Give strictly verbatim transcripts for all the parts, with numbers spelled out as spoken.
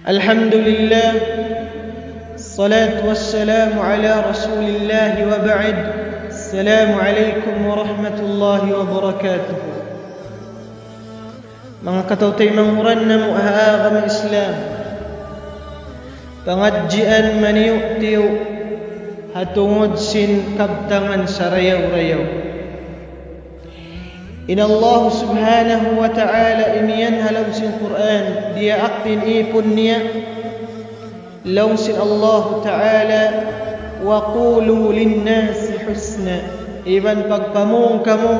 الحمد لله، الصلاة والسلام على رسول الله وبعد. السلام عليكم ورحمة الله وبركاته. Manga kataw-taymanghuran namu' ha agama Islam, pangadjian maniyu'-tiyu' ha tungud sin kabtangan sarayaw-rayaw. In Allah subhanahu wa ta'ala imiyan ha lawm sin Qur'an, diyaak in ipun niya, laung sin Allah ta'ala, وقولوا للناس حسنا. Iban pagpamung kamu,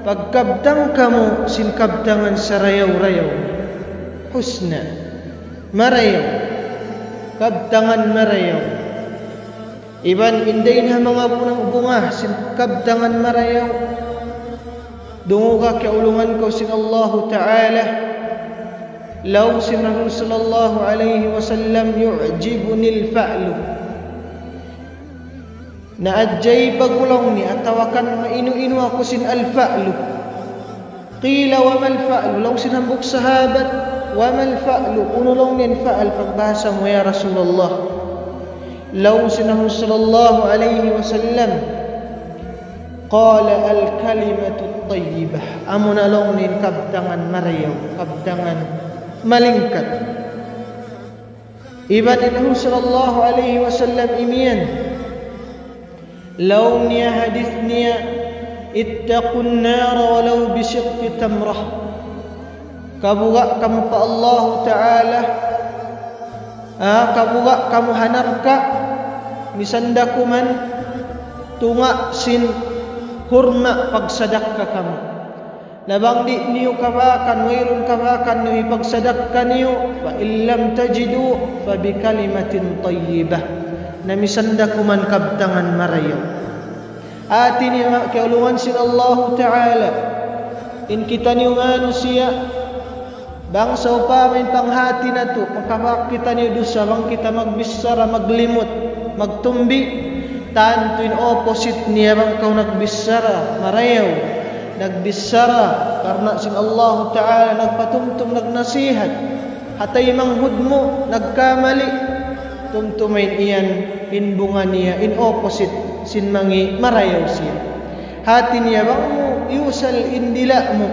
pagkabtang kamu sin kabtangan sarayaw-rayaw. Husna. Marayaw. Kabtangan marayaw. Iban in dayn ha manga bunga-bunga sin kabtangan marayaw. Dunguga kiyaulungan kaw sin Allahu ta'ala. Laung sin Rasul sallallahu alayhi wasallam, يعجبني الفأل. Naajaiba ku laung niya atawa kan mainu-inu aku sin al-fa'lu. قيل وما الفأل؟ Laung sin hambuuk sahabat, وما الفأل؟ Unu laung niya in fa'al pagbahasa mu ya Rasulullah? Laung sin Rasul sallallahu alayhi wasallam, قال الكلمة الطيبة. Amuna laung niya in kabtangan marayaw, kabtangan malingkat. Iban in Rasul sallallahu alayhi wasallam imiyan, laung niya hadith niya, اتقوا النار ولو بشق تمرة. Kabuga' kamu pa Allahu ta'ala, ah, kabuga' kamu ha narka', misan da kuman tunga' sin hurma pagsadakka kamu. Na bang di' niyu kabakan, wayruun kabakan niyu hipagsadakka niyu, فإن لم تجدوا فبكلمة طيبة. Na misan da kuman kabtangan marayaw. Hati niya manga kiyaulungan sin Allahu ta'ala, in kitaniyu manusiya', bang sawpama in panghati natu' makabak kitaniyu dusa, bang kita magbichara maglimut, magtumbi, tantu in opposite niya bang kaw nagbichara marayaw, nagbichara karna' sin Allahu ta'ala, nagpatumtum, nagnasihat ha taymanghud mu, nagkamali, tumtuma in yan, in bunga niya in opposite sin mangi' marayaw siya. Hati niya bang mu iyusal in dila' mu,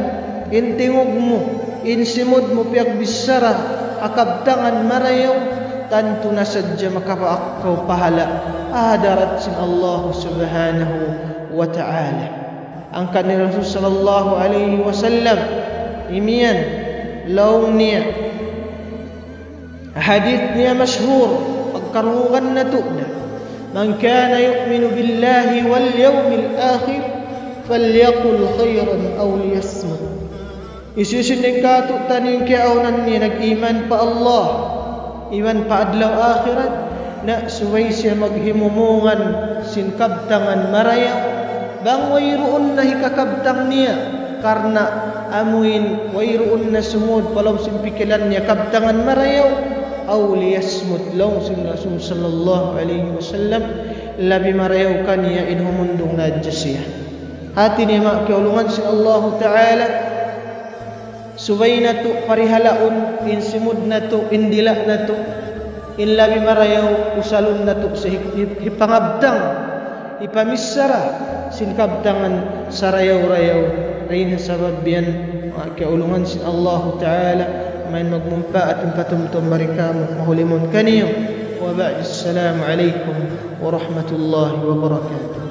in tingug mu, in simud mu piyagbichara ha kabtangan marayaw, tantu na sadja makapaak kaw pahala' ha hadarat sin Allah subhanahu wa ta'ala. Hangkan in Rasul sallallahu alayhi wasallam imiyan laung niya, hadith niya mashhur, pagkarungugan natu' na, من كان يؤمن بالله واليوم الآخر فليقل خيرا أو ليصمت. Hisiyu-siyu dayn kātu'niyu in kiyaawnan niya nag-iman pa Allah iban pa adlaw akhirat, na subay siya maghimumungan sin kabtangan marayaw, bang wayruun na hikakabtang niya, karna' amuin wayruun na sumud pa lawm sin pikilan niya kabtangan marayaw, أو ليصمت, laung sin Rasul sallallahu alayhi wasallam, labi marayaw kaniya in humundung na hadja siya. Hati niya manga kiyaulungan sin Allahu ta'ala, subay natu' parihalaun in simud natu', in dila' natu', in labi marayaw usalun natu' sa hi-, hi-, hipangabtang, hipamichara sin kabtangan sarayaw-rayaw. Dayn ha sabab yan, manga kiyaulungan sin Allahu ta'ala, mayan magmumpaat in patumtum mari kamu, mahulimun kaniyu. وبعد، السلام عليكم ورحمة الله وبركاته.